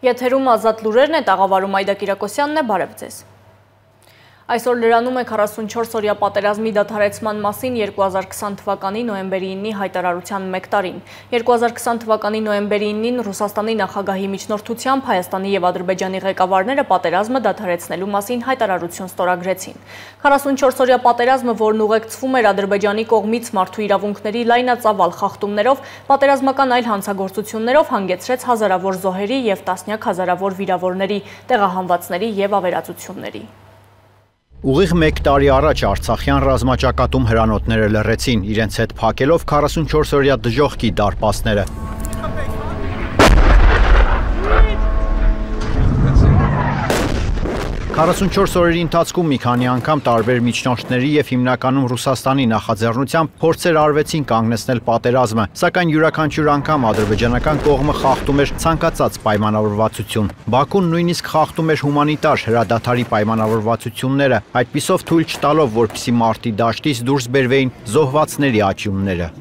Եթերում ազատ լուրերն է, տաղավարում Այդա Կիրակոսյանն է, բարև ձեզ։ Այսօր լրանում է 44-օրյա պատերազմի դադարեցման մասին 2020 թվականի նոյեմբերի 9-ի հայտարարության 1 տարին։ 2020 թվականի նոյեմբերի 9-ին Ռուսաստանի նախագահի միջնորդությամբ Հայաստանի և Ադրբեջանի ղեկավարները պատերազմը դադարեցնելու մասին հայտարարություն ստորագրեցին։ 44-օրյա պատերազմը, որն ուղեկցվում էր Ադրբեջանի կողմից մարդու իրավունքների լայնածավալ խախտումներով, պատերազմական այլ հանցագործություններով հանգեցրեց հազարավոր զոհերի և տասնյակ հազարավոր վիրավորների, տեղահանվածների և ավերածությունների։ Ուղիղ 1 տարի առաջ արցախյան ռազմաճակատում հրանոթները լռեցին, իրենց հետ փակելով 44-օրյա դժոխքի դարպասները։ 44 օրերի ընթացքում մի քանի անգամ տարբեր միջնորդների և հիմնականում Ռուսաստանի նախաձեռնությամբ փորձեր արվեցին կանգնեցնել պատերազմը, սակայն յուրաքանչյուր անգամ ադրբեջանական կողմը խախտում էր ցանկացած պայմանավորվածություն։ Բաքուն նույնիսկ խախտում էր հումանիտար հրադադարի պայմանավորվածությունները, այդպիսով թույլ չտալով, որպեսզի մարտի դաշտից դուրս բերվեին զոհվածների աճյունները։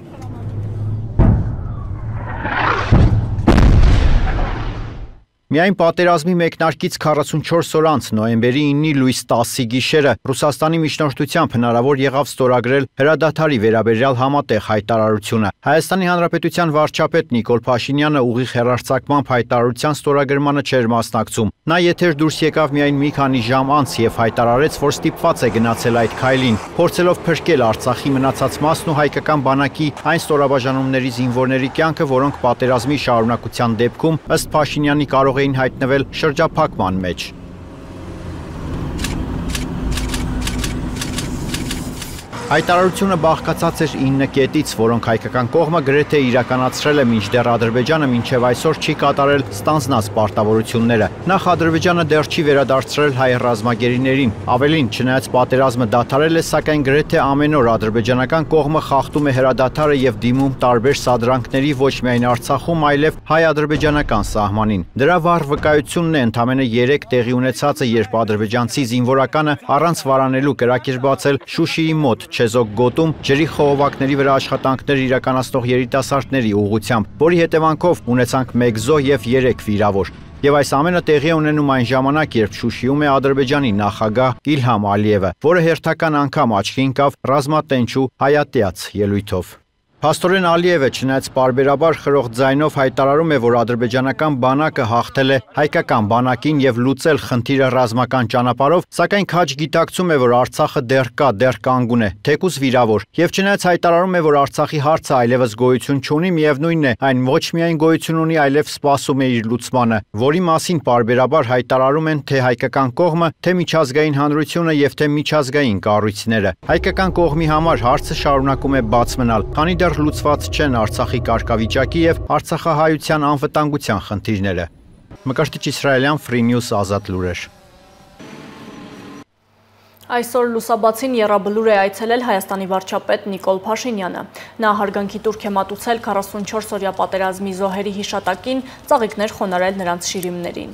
Միայն պատերազմի մեկնարկից 44 օր անց նոյեմբերի 9-ի լույս 10-ի գիշերը Ռուսաստանի միջնորդությամբ հնարավոր եղավ ստորագրել հրադադարի վերաբերյալ համատեղ հայտարարությունը։ Հայաստանի Հանրապետության վարչապետ Նիկոլ Փաշինյանը ուղիղ հեռարձակմամբ հայտարարության ստորագրմանը չէր մասնակցում։ Նա եթեր դուրս եկավ միայն մի քանի ժամ անց և հայտարարեց, որ ստիպված է գնացել այդ քայլին, փորձելով փրկել Արցախի մնացած մասն ու հայկական բանակի այն ստորաբաժանումների զինվորների կյանքը, որոնք պատերազմի շարունակության դեպքում ըստ Փաշինյանի կարող էին հայտնվել շրջափակման մեջ։ Հայտարարությունը բաղկացած էր 9 կետից, որոնք հայկական կողմը գրեթե իրականացրել է, մինչդեռ Ադրբեջանը մինչև այսօր չի կատարել ստանձնած պարտավորությունները։ Նախ Ադրբեջանը դեռ չի վերադարձրել հայ ռազմագերիներին։ Ավելին, չնայած պատերազմը դադարել է, սակայն գրեթե ամեն օր ադրբեջանական կողմը խախտում է հրադադարը և դիմում տարբեր սադրանքների ոչ միայն Արցախում, այլև հայ-ադրբեջանական սահմանին։ Դրա վառ վկայությունն է ընդամենը 3 տեղի ունեցածը, երբ ադրբեջանցի զինվորականը առանց վարանելու կրակ էր բացել Շուշիի մոտ Չեզոք գոտում ջրի խողովակների վրա աշխատանքներ իրականացնող երիտասարդների ուղղությամբ, որի հետևանքով ունեցանք 1 զոհ և 3 վիրավոր։ Եվ այս ամենը տեղի է ունենում այն ժամանակ, երբ Շուշիում է Ադրբեջանի նախագահ Իլհամ Ալիևը, որը հերթական անգամ աչքի ընկավ ռազմատենչ ու հայատյաց ելույթով։ Փաստորեն Ալիևը, չնայած պարբերաբար խրող ձայնով հայտարարում է, որ ադրբեջանական բանակը հաղթել է հայկական բանակին և լուծել խնդիրը ռազմական ճանապարհով, սակայն քաջ գիտակցում է, որ Արցախը դեռ կա, դեռ կանգուն է, թեկուզ վիրավոր, և չնայած հայտարարում է, որ Արցախի հարցը այլևս գոյություն չունի, միևնույնն է, այն ոչ միայն գոյություն ունի, այլև սպասում է իր լուծմանը, որի մասին պարբերաբար հայտարարում են թե հայկական կողմը, թե միջազգային հանրությունը և թե միջազգային կառույցները։ Հայկական կողմի համար հարցը շարունակում է բաց մնալ, քանի դեռ լուծված չեն Արցախի կարգավիճակի և արցախահայության անվտանգության խնդիրները։ Մկրտիչ Իսրայելյան, Free News, ազատ լուրեր։ Այսօր լուսաբացին եռաբլուր է այցելել Հայաստանի վարչապետ Նիկոլ Փաշինյանը։ Նա հարգանքի տուրք է մատուցել 44-օրյա պատերազմի զոհերի հիշատակին, ծաղիկներ խոնարել նրանց շիրիմներին։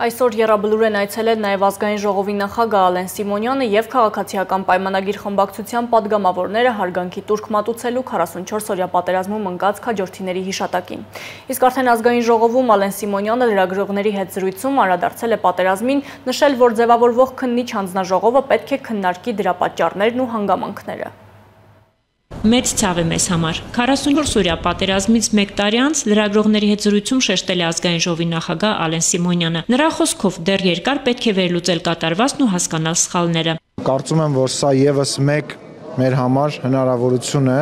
Այսօր եռաբլուր են այցելել նաև ազգային ժողովի նախագահ Ալեն Սիմոնյանը և քաղաքացիական պայմանագիր խմբակցության պատգամավորները հարգանքի տուրք մատուցելու 44-օրյա պատերազմում ընկած քաջորդիների հիշատակին։ Իսկ արդեն ազգային ժողովում Ալեն Սիմոնյանը լրագրողների հետ զրույցում անդրադարձել է պատերազմին, նշել, որ ձևավորվող քննիչ հանձնաժողովը պետք է քննարկի դրա պատճառներն ու հանգամանքները։ Մեծ ցավ է մեզ համար։ 44 օրյա պատերազմից 1 տարի անց լրագրողների հետ զրույցում շեշտել է ազգային ժողովի նախագահ Ալեն Սիմոնյանը։ Նրա խոսքով դեռ երկար պետք է վերլուծել կատարվածն ու հասկանալ սխալները։ Կարծում եմ, որ սա եւս մեկ մեր համար հնարավորություն է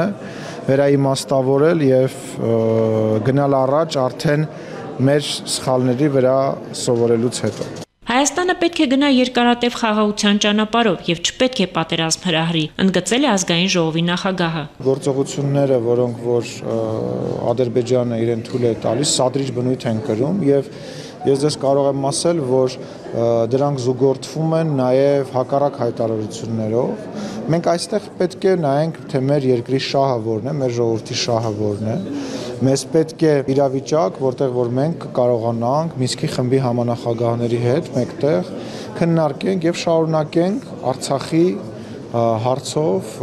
վերաիմաստավորել եւ գնալ առաջ արդեն մեր սխալների վրա սովորելուց հետո։ Հայաստանը պետք է գնա երկարատև խաղաղության ճանապարհով եւ չպետք է պատերազմ հրահրի, ընդգծել է ազգային ժողովի նախագահը։ Գործողությունները, որոնք որ Ադրբեջանը իրեն թույլ է տալիս, սադրիչ բնույթ են կրում եւ ես դες կարող եմ ասել, որ դրանք զուգորդվում են նաեւ հակառակ հայտարարություններով։ Մենք այստեղ պետք է նայենք, թե մեր երկրի շահը որն է, մեր ժողովրդի շահը որն է։ Մեզ պետք է իրավիճակ, որտեղ որ մենք կարողանանք Մինսկի խմբի համանախագահների հետ մեկտեղ քննարկենք եւ շարունակենք Արցախի հարցով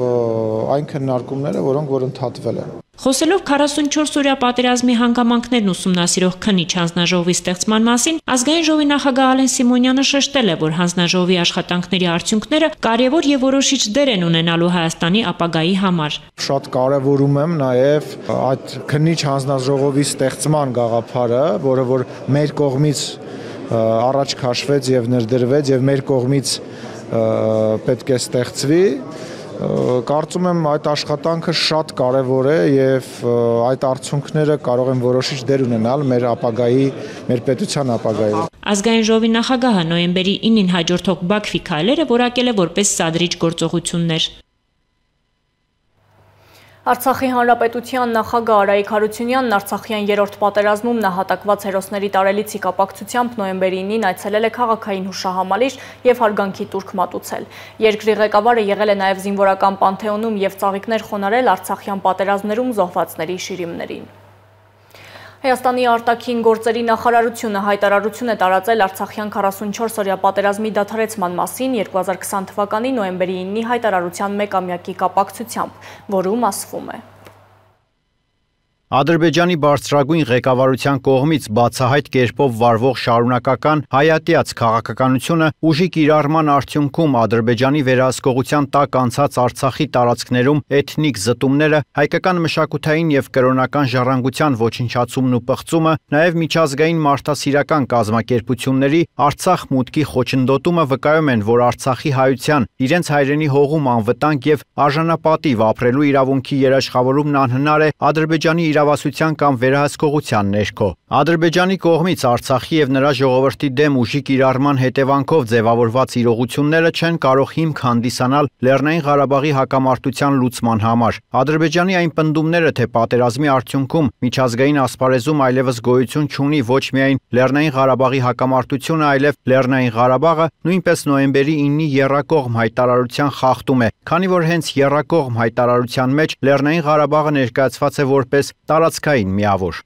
այն քննարկումները, որոնք որ ընդհատվել են։ Խոսելով 44 օրյա պատերազմի հանգամանքներն ուսումնասիրող քննիչ հանձնաժողովի ստեղծման մասին, ազգային ժողովի նախագահ Ալեն Սիմոնյանը շեշտել է, որ հանձնաժողովի աշխատանքների արդյունքները կարևոր եւ որոշիչ դեր են ունենալու Հայաստանի ապագայի համար։ Շատ կարևորում եմ նաեւ այդ քննիչ հանձնաժողովի ստեղծման գաղափարը, որը որ մեր կողմից առաջ քաշվեց եւ ներդրվեց եւ մեր կողմից պետք է ստեղծվի։ Կարծում եմ այդ աշխատանքը շատ կարևոր է եւ այդ արդյունքները կարող են որոշիչ դեր ունենալ մեր ապագայի, մեր պետության ապագայում։ Ազգային ժողովի նախագահը նոյեմբերի 9-ին հաջորդող Բաքվի քայլերը որակել է որպես սադրիչ գործողություններ։ Արցախի հանրապետության նախագահ Արայիկ Հարությունյանն Արցախյան երրորդ պատերազմում նահատակված հերոսների տարելիցի կապակցությամբ նոյեմբերի 9-ին այցելել է քաղաքային հուշահամալիր եւ հարգանքի տուրք մատուցել։ Երկրի ղեկավարը եղել է նաեւ զինվորական պանթեոնում եւ ծաղիկներ խոնարել Արցախյան պատերազմներում զոհվածների շիրիմներին։ Հայաստանի արտաքին գործերի նախարարությունը հայտարարություն է տարածել Արցախյան 44 օրյա պատերազմի դադարեցման մասին 2020 թվականի նոյեմբերի 9-ի հայտարարության մեկամյակի կապակցությամբ, որում ասվում է. Ադրբեջանի բարձրագույն ղեկավարության կողմից բացահայտ կերպով վարվող շարունակական հայատյաց քաղաքականությունը ուժի կիրառման արդյունքում Ադրբեջանի վերահսկողության տակ անցած Արցախի տարածքներում էթնիկ զտումները, հայկական մշակութային եւ կրոնական ժառանգության ոչնչացումն ու պղծումը, նաեւ միջազգային մարդասիրական կազմակերպությունների Արցախ մուտքի խոչընդոտումը վկայում են, որ Արցախի հայության իրենց հայրենի հողում անվտանգ եւ արժանապատիվ ապրելու իրավունքի երաշխավորումն անհնար է Ադրբեջանի իրավասության կամ վերահսկողության ներքո։ Ադրբեջանի կողմից Արցախի եւ նրա ժողովրդի դեմ ուժի կիրառման հետևանքով ձևավորված իրողությունները չեն կարող հիմք հանդիսանալ Լեռնային Ղարաբաղի հակամարտության լուծման համար։ Ադրբեջանի այն պնդումները, թե պատերազմի արդյունքում միջազգային ասպարեզում այլևս գոյություն չունի ոչ միայն Լեռնային Ղարաբաղի հակամարտությունը, այլև Լեռնային Ղարաբաղը նույնպես նոյեմբերի 9-ի եռակողմ հայտարարության խախտում է, քանի որ հենց եռակողմ հայտարարության մեջ Լեռնային Ղարաբաղը ներկայացված է որպես տարածքային միավոր։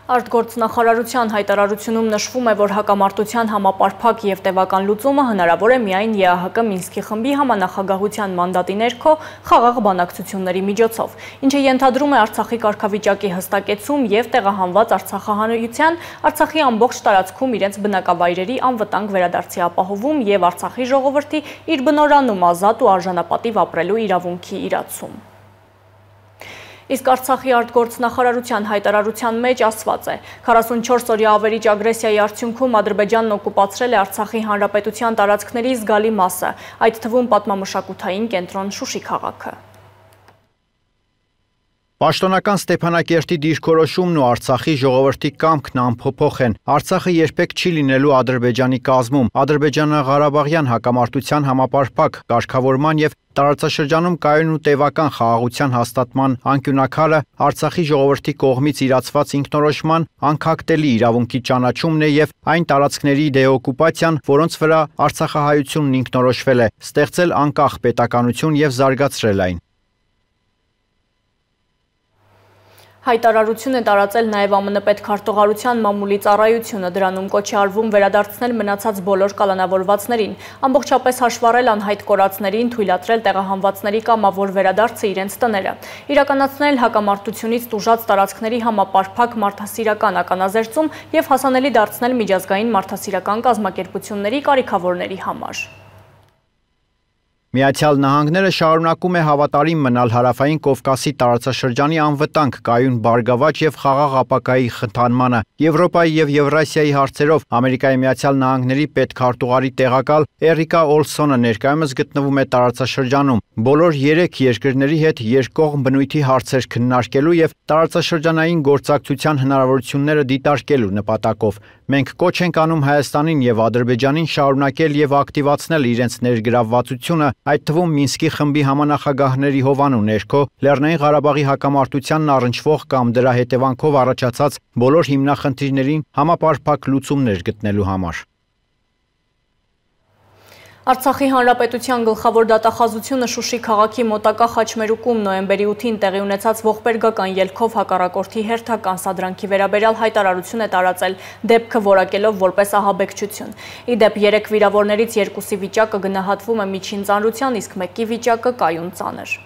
Արտգործնախարարության հայտարարությունում նշվում է, որ հակամարտության համապարփակ եւ տևական լուծումը հնարավոր է միայն ԵԱՀԿ Մինսկի խմբի համանախագահության մանդատի ներքո խաղաղ բանակցությունների միջոցով, ինչը ենթադրում է Արցախի կարգավիճակի հստակեցում եւ տեղահանված Արցախահայության Արցախի ամբողջ տարածքում իրենց բնակավայրերի անվտանգ վերադարձի ապահովում եւ Արցախի ժողովրդի իր բնորանում ազատ ու արժանապատիվ ապրելու իրավունքի իրացում։ Իսկ Արցախի արտգործնախարարության հայտարարության մեջ ասված է. 44 օրյա ավերիչ ագրեսիայի արդյունքում Ադրբեջանն օկուպացրել է Արցախի հանրապետության տարածքների զգալի մասը, այդ թվում պատմամշակութային կենտրոն Շուշի քաղաքը։ Պաշտոնական Ստեփանակերտի դիրքորոշումն ու Արցախի ժողովրդի կամքն անփոփոխ են։ Արցախը երբեք չի լինելու Ադրբեջանի կազմում։ Ադրբեջանա-Ղարաբաղյան հակամարտության համապարփակ կարգավորման եւ տարածաշրջանում կայուն ու տևական խաղաղության հաստատման անկյունակալը Արցախի ժողովրդի կողմից իրացված ինքնորոշման անքակտելի իրավունքի ճանաչումն է եւ այն տարածքների դեօկուպացիան, որոնց վրա Արցախահայությունն ինքնորոշվել է, ստեղծել անկախ պետականություն եւ զարգացրել այն։ Հայտարարություն է տարածել նաև ԱՄՆ պետքարտուղարության մամուլի ծառայությունը, դրանում կոչ է արվում վերադարձնել մնացած բոլոր կալանավորվածներին, ամբողջապես հաշվառել անհայտ կորածներին, թույլատրել տեղահանվածների կամավոր վերադարձը իրենց տները, իրականացնել հակամարտությունից տուժած տարածքների համապարփակ մարդասիրական ականազերծում եւ հասանելի դարձնել միջազգային մարդասիրական կազմակերպությունների կարիքավորների համար։ Միացյալ Նահանգները շարունակում է հավատարիմ մնալ Հարավային Կովկասի տարածաշրջանի անվտանգ, կայուն, բարգավաճ եւ խաղաղ ապագայի խթանմանը։ Եվրոպայի եւ Եվրասիայի հարցերով Ամերիկայի Միացյալ Նահանգների պետքարտուղարի տեղակալ Էրիկա Օլսոնը ներկայումս գտնվում է տարածաշրջանում։ Բոլոր 3 երկրների հետ երկկողմ բնույթի հարցեր քննարկելու եւ տարածաշրջանային գործակցության հնարավորությունները դիտարկելու նպատակով։ Մենք կոչ ենք անում Հայաստանին եւ Ադրբեջանին շարունակել եւ ակտիվացնել իրենց ներգրավվածությունը, այդ թվում Մինսկի խմբի համանախագահների հովանու ներքո Լեռնային Ղարաբաղի հակամարտությանն առնչվող կամ դրա հետևանքով առաջացած բոլոր հիմնախնդիրներին համապարփակ լուծումներ գտնելու համար։ Արցախի Հանրապետության գլխավոր դատախազությունը Շուշի քաղաքի մոտակա Խաչմերուկում նոյեմբերի 8-ին տեղի ունեցած ողբերգական ելքով հակառակորդի հերթական սադրանքի վերաբերյալ հայտարարություն է տարածել, դեպքը որակելով որպես ահաբեկչություն։ Ի դեպ 3 վիրավորներից 2-ի վիճակը գնահատվում է միջին ծանրության, իսկ 1-ի վիճակը կայուն ծանր։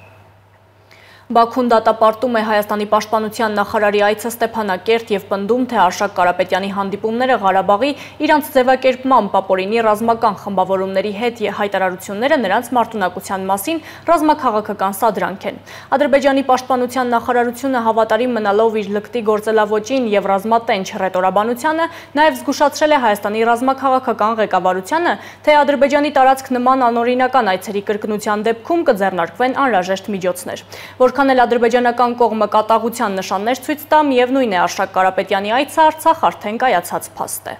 Բաքուն դատապարտում է Հայաստանի պաշտպանության նախարարի այցը Ստեփանակերտ եւ պնդում, թե Արշակ Կարապետյանի հանդիպումները Ղարաբաղի իրանց ձևակերպման ապօրինի ռազմական խմբավորումների հետ հայտարարությունները նրանց մարտունակության մասին ռազմաքաղաքական սադրանք են։ Ադրբեջանի պաշտպանության նախարարությունը հավատարիմ մնալով իր լկտի գործելավոճին եւ ռազմատենչ ռետորաբանությանը նաեւ զգուշացրել է Հայաստանի ռազմաքաղաքական ղեկավարությանը, թե Ադրբեջանի տարածք նման անօրինական այցերի կրկնության դեպքում կձեռնարկվեն անհրաժեշտ միջոցներ։ Որքան էլ ադրբեջանական կողմը կատաղության նշաններ ցույց տա, միևնույն է Արշակ Կարապետյանի այցը Արցախ արդեն կայացած փաստ է։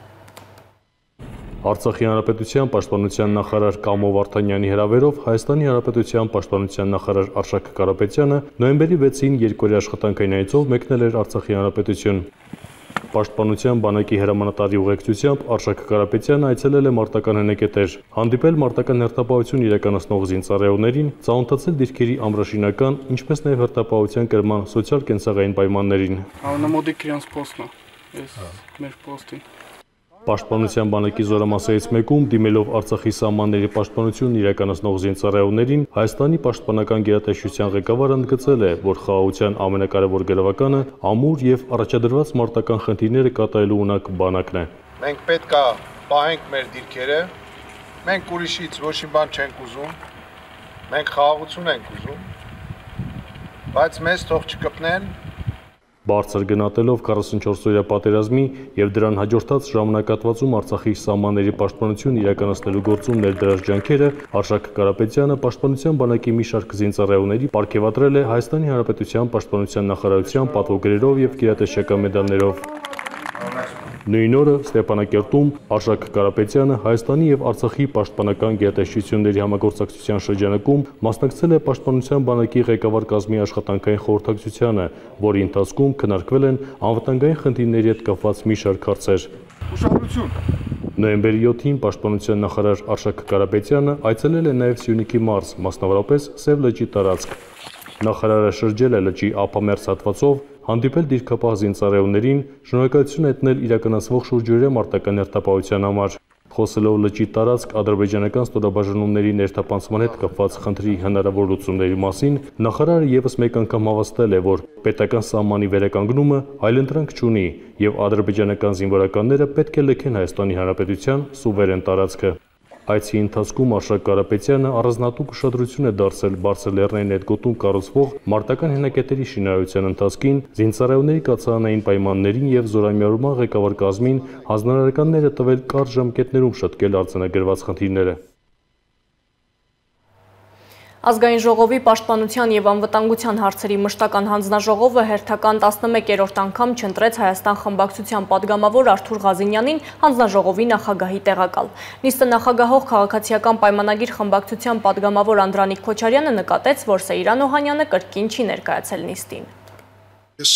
Արցախի Հանրապետության պաշտպանության նախարար Կամո Վարդանյանի հրավերով Հայաստանի Հանրապետության պաշտպանության նախարար Արշակ Կարապետյանը նոյեմբերի 6-ին երկօրյա աշխատանքային այցով մեկնել էր Արցախի Հանրապետություն։ Պաշտպանության բանակի հրամանատարի ուղեկցությամբ Արշակ Կարապետյանը այցելել է մարտական հնեկետեր, հանդիպել մարտական հերթապահություն իրականացնող զինծառայողներին, ծանոթացել դիրքերի ամրաշինական, ինչպես նաև հերթապահության կրման սոցիալ-կենցաղային պայմաններին։ Անամոդիկ իրանց պոստն է, մեր պոստին։ Պաշտպանության բանակի զորամասերից մեկում դիմելով Արցախի սահմանների պաշտպանությունն իրականացնող զինծառայողներին Հայաստանի պաշտպանական գերատեսչության ղեկավարը ընդգծել է, որ խաղաղության ամենակարևոր գրավականը ամուր եւ առաջադրված մարտական խնդիրները կատարելու ունակ բանակն է։ Մենք պետք է պահենք մեր դիրքերը, մենք ուրիշից ոչինչ բան չենք ուզում, մենք խաղաղություն ենք ուզում, բայց մեզ թող չկպնեն։ Բարձր գնահատելով 44-օրյա պատերազմի եւ դրան հաջորդած ժամանակատվածում Արցախի սահմանների պաշտպանություն իրականացնելու գործում ներդրած ջանքերը Արշակ Կարապետյանը պաշտպանության բանակի մի շարք զինծառայողների պարգևատրել է Հայաստանի Հանրապետության պաշտպանության նախարարության պատվոգրերով եւ գերատեսչական մեդալներով։ Նույն օրը Ստեփանակերտում Արշակ Կարապետյանը Հայաստանի եւ Արցախի պաշտպանական գերատեսչությունների համագործակցության շրջանակում մասնակցել է պաշտպանության բանակի ղեկավար կազմի աշխատանքային խորհրդակցությանը, որի ընթացքում քննարկվել են անվտանգային խնդիրների հետ կապված մի շարք հարցեր։ Նոյեմբերի 7-ին պաշտպանության նախարար Արշակ Կարապետյանը այցելել է նաեւ Սյունիքի մարզ, մասնավորապես Սև լճի տարածք։ Նախարարը շրջել է լճի ափամերձ հատվածով, հանդիպել դիրքապահ զինծառայողներին, շնորհակալություն հայտնել իրականացվող շուրջօրյա մարտական հերթապահության համար։ Խոսելով լճի տարածք ադրբեջանական ստորաբաժանումների ներթափանցման հետ կապված խնդրի հնարավոր լուծումների մասին, նախարարը եւս մեկ անգամ հավաստել է, որ պետական սահմանի վերականգնումը այլընտրանք չունի եւ ադրբեջանական զինվորականները պետք է լքեն Հայաստանի Հանրապետության սուվերեն տարածքը։ Այցի ընթացքում Արշակ Կարապետյանը առանձնատուկ ուշադրություն է դարձել բարձր լեռնային հետգոտում կառուցվող մարտական հենակետերի շինարարության ընթացքին, զինծառայողների կացարանային պայմաններին եւ զորամիավորման ղեկավար կազմին հանձնարարականները տվել կարճ ժամկետներում շտկել արձանագրված խնդիրները։ Ազգային ժողովի պաշտպանության եւ անվտանգության հարցերի մշտական հանձնաժողովը հերթական 11-րդ անգամ չընտրեց Հայաստան խմբակցության падգամավոր Արթուր Ղազինյանին հանձնաժողովի նախագահի տեղակալ։ Նիստը նախագահող քաղաքացիական պայմանագիր խմբակցության падգամավոր Անդրանիկ Քոչարյանը նկատեց, որ Սեյրան Օհանյանը կրկին չի ներկայացել նիստին։ Ես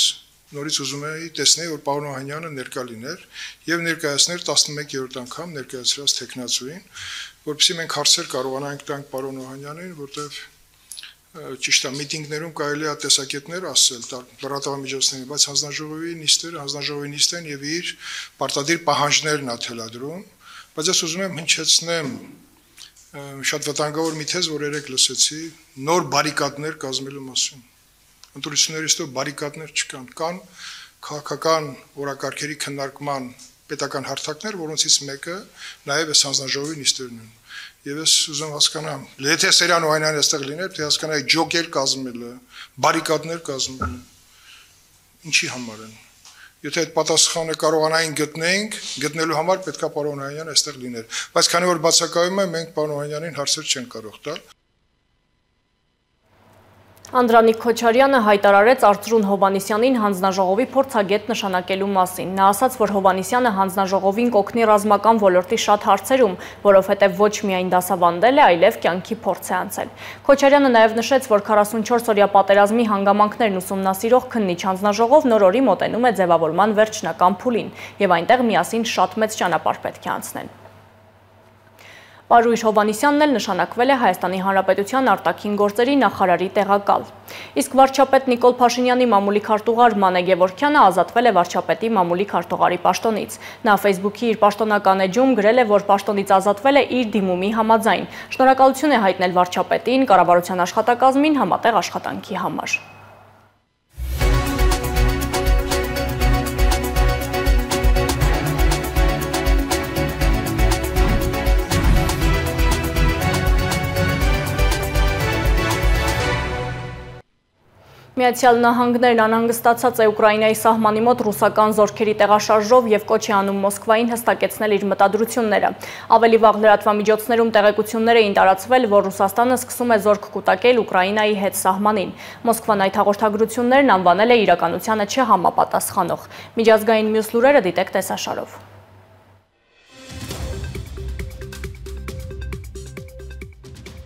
նորից ուզում եի տեսնել, որ պարոն Օհանյանը ներկա լիներ եւ ներկայացներ 11-րդ անգամ ներկայացրած տեխնացուին, որովհետեւ մենք հարցեր կարողանանք տանք պարոն Օհանյանին, որտեղ ճիշտ է միտինգներում կարելի է տեսակետներ ասել լրատվամիջոցների, բայց հանձնաժողովի նիստն եւ իր պարտադիր պահանջներն է թելադրում, բայց ես ուզում եմ հնչեցնեմ շատ վտանգավոր մի թեզ, որ երեք լսեցի, նոր բարիկադներ կազմելու մասին։ Ընտրություններից հետո բարիկադներ չկան, կան քաղաքական օրակարգերի քննարկման պետական հարթակներ, որոնցից մեկը նաև է հանձնաժողովի նիստերն են։ Եվ ես ուզում հասկանամ, եթե Սերյան Օհանյանը այստեղ լիներ, թե հասկանայի ջոկեր կազմելը, բարիկադներ կազմելը, ինչի համար են։ Եթե այդ պատասխանը կարողանային գտնելու համար պետքա պարոն Օհանյանը այստեղ լիներ։ Բայց քանի որ բացակայում է, մենք պարոն Օհանյանին հարցեր չենք կարող տալ։ Անդրանիկ Քոչարյանը հայտարարեց Արծրուն Հովհաննիսյանին հանձնաժողովի փորձագետ նշանակելու մասին։ Նա ասաց, որ Հովհաննիսյանը հանձնաժողովին կօգնի ռազմական ոլորտի շատ հարցերում, որովհետև ոչ միայն դասավանդել է, այլև կյանքի փորձ է անցել։ Քոչարյանը նաև նշեց, որ 44-օրյա պատերազմի հանգամանքներն ուսումնասիրող քննիչ հանձնաժողով նոր օրի մոտենում է ձևավորման վերջնական փուլին, եւ այնտեղ միասին շատ մեծ ճանապարհ պետք է անցնեն։ Պարույր Հովհաննիսյանն էլ նշանակվել է Հայաստանի Հանրապետության արտաքին գործերի նախարարի տեղակալ։ Իսկ վարչապետ Նիկոլ Փաշինյանի մամուլի քարտուղար Մանե Գևորգյանը ազատվել է վարչապետի մամուլի քարտուղարի պաշտոնից։ Նա Facebook-ի իր պաշտոնական էջում գրել է, որ պաշտոնից ազատվել է իր դիմումի համաձայն։ Շնորհակալություն է հայտնել վարչապետին, կառավարության աշխատակազմին համատեղ աշխատանքի համար։ Միացյալ Նահանգներն անհանգստացած է Ուկրաինայի սահմանի մոտ ռուսական զորքերի տեղաշարժով եւ կոչ է անում Մոսկվային հստակեցնել իր մտադրությունները։ Ավելի վաղ լրատվամիջոցներում տեղեկություններ էին տարածվել, որ Ռուսաստանը սկսում է զորք կուտակել Ուկրաինայի հետ սահմանին։ Մոսկվան այդ հաղորդագրություններն անվանել է իրականությանը չհամապատասխանող։ Միջազգային մյուս լուրերը դիտեք տեսաշարով։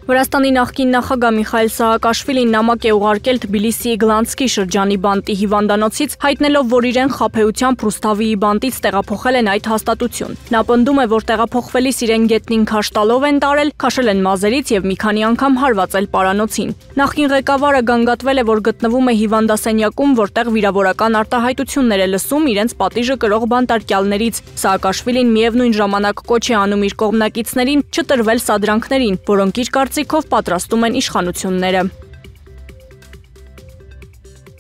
Վրաստանի նախկին նախագահ Միխայել Սահակաշվիլին նամակ է ուղարկել Թբիլիսիի Գլանցկի շրջանի բանտի հիվանդանոցից, հայտնելով, որ իրեն խաբեությամբ Ռուսթավիի բանտից տեղափոխել են այդ հաստատություն։ Նա պնդում է, որ տեղափոխվելիս իրեն գետնին քաշ տալով են տարել, քաշել են մազերից եւ մի քանի անգամ հարվածել պարանոցին։ Նախկին ղեկավարը գանգատվել է, որ գտնվում է հիվանդասենյակում, որտեղ վիրավորական արտահայտություններ է լսում իրենց պատիժը կրող բանտարկյալներից։ Սահակաշվիլին միևնույն ժամանակ կոչ է անում իր կողմնակիցներին չտրվել սադրանքներին, որոնք իր կարծիքով պատրաստում են իշխանությունները։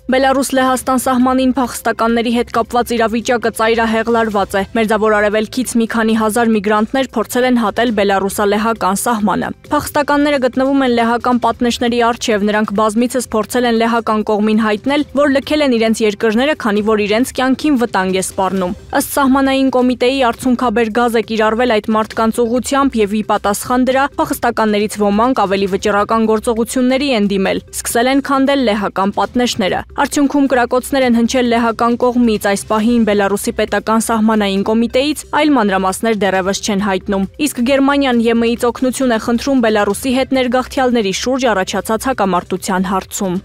Բելարուս-Լեհաստան սահմանին փախստականների հետ կապված իրավիճակը ծայրահեղլարված է։ Մերձավոր Արևելքից մի քանի հազար միգրանտներ փորձել են հատել բելարուսա-լեհական սահմանը։ Փախստականները գտնվում են լեհական պատնեշների առջև, նրանք բազմիցս փորձել են լեհական կողմին հայտնել, որ լքել են իրենց երկրները, քանի որ իրենց կյանքին վտանգ է սպառնում։ Ըստ սահմանային կոմիտեի արդյունքաբեր գազ է կիրառվել այդ մարդկանց ուղղությամբ եւ ի պատասխան դրա փախստականներից ոմանք ավելի վճռական գործողությունների են դիմել, սկսել են քանդել լեհական պատնեշները։ Արդյունքում կրակոցներ են հնչել լեհական կողմից, այս պահին Բելարուսի պետական սահմանային կոմիտեից, այլ մանրամասներ դեռևս չեն հայտնում։ Իսկ Գերմանիան ԵՄ-ից օգնություն է խնդրում Բելարուսի հետ ներգաղթյալների շուրջ առաջացած հակամարտության հարցում։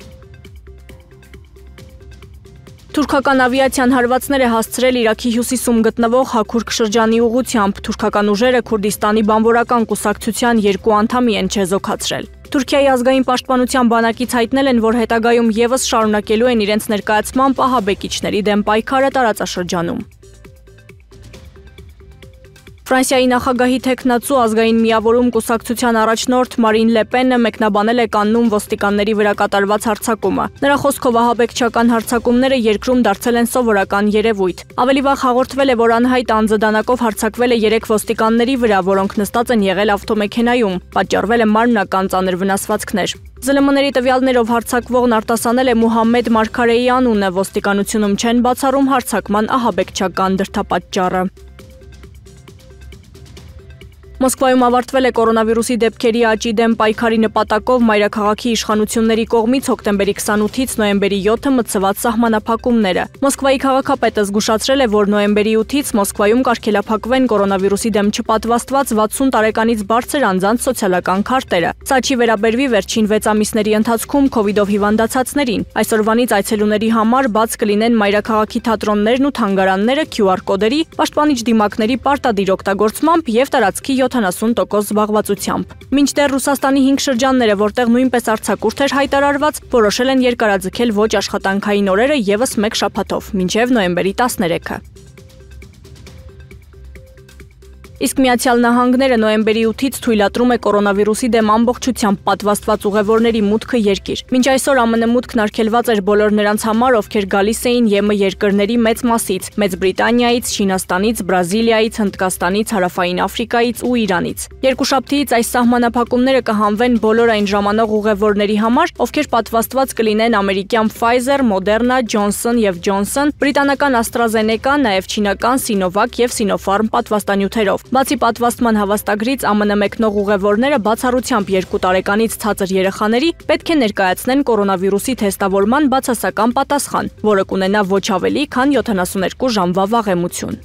Թուրքական ավիացիան հարվածներ է հասցրել Իրաքի հյուսիսում գտնվող Հաքուրք շրջանի ուղղությամբ։ Թուրքական ուժերը Քուրդիստանի բանվորական կուսակցության 2 անդամի են չեզոքացրել։ Թուրքիայի ազգային պաշտպանության բանակից հայտնել են, որ հետագայում եւս շարունակելու են իրենց ներկայացման ահաբեկիչների դեմ պայքարը տարածաշրջանում։ Ֆրանսիայի նախագահի թեկնածու ազգային միավորում կուսակցության առաջնորդ Մարին Լեպենը մեկնաբանել է կաննում ոստիկանների վրա կատարված հարձակումը։ Նրա խոսքով ահաբեկչական հարձակումները երկրում դարձել են սովորական երևույթ։ Ավելի վաղ հաղորդվել է, որ անհայտ անձը դանակով հարձակվել է 3 ոստիկանների վրա, որոնք նստած են եղել ավտոմեքենայում։ Պատճառվել է մարմնական ծանր վնասվածքներ։ ԶԼՄ-ների տվյալներով հարձակվողն արտասանել է Մուհամմեդ Մարգարեի անունը, ոստիկանությունում չեն բացառում հարձակման ահաբեկչական դրդապատճառը։ Մոսկվայում ավարտվել է կորոնավիրուսի դեպքերի աճի դեմ պայքարի նպատակով մայրաքաղաքի իշխանությունների կողմից հոկտեմբերի 28-ից նոյեմբերի 7-ը մտցված սահմանափակումները։ Մոսկվայի քաղաքապետը զգուշացրել է, որ նոյեմբերի 8-ից Մոսկվայում կարգելափակվեն կորոնավիրուսի դեմ չպատվաստված 60 տարեկանից բարձր անձանց սոցիալական քարտերը։ Սա չի վերաբերվի վերջին 6 ամիսների ընթացքում COVID-ով հիվանդացածներին։ Այսօրվանից այցելուների համար բաց կլինեն մայրաքաղաքի թատրոններն ու թանգարանները QR կոդերի, պաշտպանիչ դիմակների պարտադիր օգտագործմամբ եւ տարածքի 70% զբաղվածությամբ։ Մինչդեռ Ռուսաստանի 5 շրջանները, որտեղ նույնպես արձակուրդ էր հայտարարված, որոշել են երկարաձգել ոչ աշխատանքային օրերը եւս 1 շաբաթով, մինչև նոյեմբերի 13-ը։ Իսկ Միացյալ Նահանգները նոյեմբերի 8-ից թույլատրում է կորոնավիրուսի դեմ ամբողջությամբ պատվաստված ուղևորների մուտքը երկիր։ Մինչ այսօր ԱՄՆ մուտքն արգելված էր բոլոր նրանց համար, ովքեր գալիս էին ԵՄ երկրների մեծ մասից՝ Մեծ Բրիտանիայից, Չինաստանից, Բրազիլիայից, Հնդկաստանից, Հարավային Աֆրիկայից ու Իրանից։ Երկուշաբթիից այս սահմանափակումները կհանվեն բոլոր այն ժամանող ուղևորների համար, ովքեր պատվաստված կլինեն ամերիկյան Pfizer, Moderna, Johnson & Johnson, բրիտանական AstraZeneca, նաև չինական Sinovac և Sinopharm պատվաստանյութերով։ Բացի պատվաստման հավաստագրից ԱՄՆ մեկնող ուղևորները բացառությամբ 2 տարեկանից ցածր երեխաների պետք է ներկայացնեն կորոնավիրուսի թեստավորման բացասական պատասխան, որը կունենա ոչ ավելի քան 72 ժամվա վաղեմություն։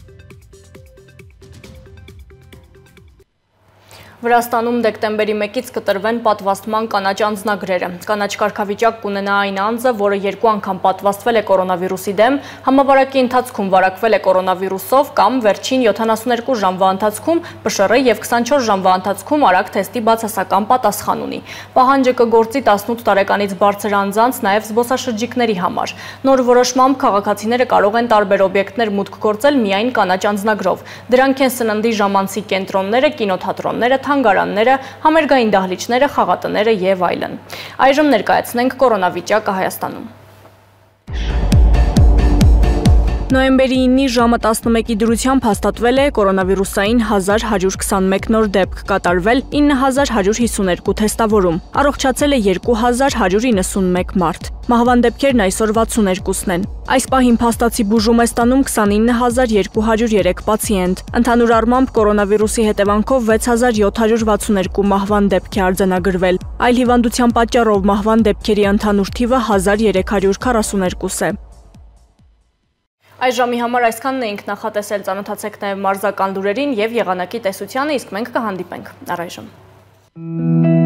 Վրաստանում դեկտեմբերի 1-ից կտրվեն պատվաստման կանաչ անձնագրերը։ Կանաչ կարգավիճակ կունենա այն անձը, որը 2 անգամ պատվաստվել է կորոնավիրուսի դեմ, համավարակի ընթացքում վարակվել է կորոնավիրուսով կամ վերջին 72 ժամվա ընթացքում ՊՇՌ և 24 ժամվա ընթացքում արագ թեստի բացասական պատասխան ունի։ Պահանջը կգործի 18 տարեկանից բարձր անձանց, նաև զբոսաշրջիկների համար։ Նոր որոշմամբ քաղաքացիները կարող են տարբեր օբյեկտներ մուտք գործել միայն կանաչ անձնագրով։ Դրանք են սննդի ժամանցի կենտրոնները, կինոթատրոնները, թանգարանները, համերգային դահլիճները, խաղատները և այլն։ Այժմ ներկայացնենք կորոնավիճակը Հայաստանում։ Նոյեմբերի 9-ի ժամը 11-ի դրությամբ հաստատվել է կորոնավիրուսային 1121 նոր դեպք, կատարվել 9152 թեստավորում, առողջացել է 2191 մարդ։ Մահվան դեպքերն այսօր 62-ն են։ Այս պահին փաստացի բուժում է ստանում 29203 պացիենտ։ Ընդհանուր առմամբ կորոնավիրուսի հետևանքով 6762 մահվան դեպք է արձանագրվել։ Այլ հիվանդության պատճառով մահվան դեպքերի ընդհանուր թիվը 1342 է։ Այս ժամի համար այսքանն էինք նախատեսել, ծանոթացեք նաև մարզական լուրերին և եղանակի տեսությանը, իսկ մենք կհանդիպենք։ Առայժմ։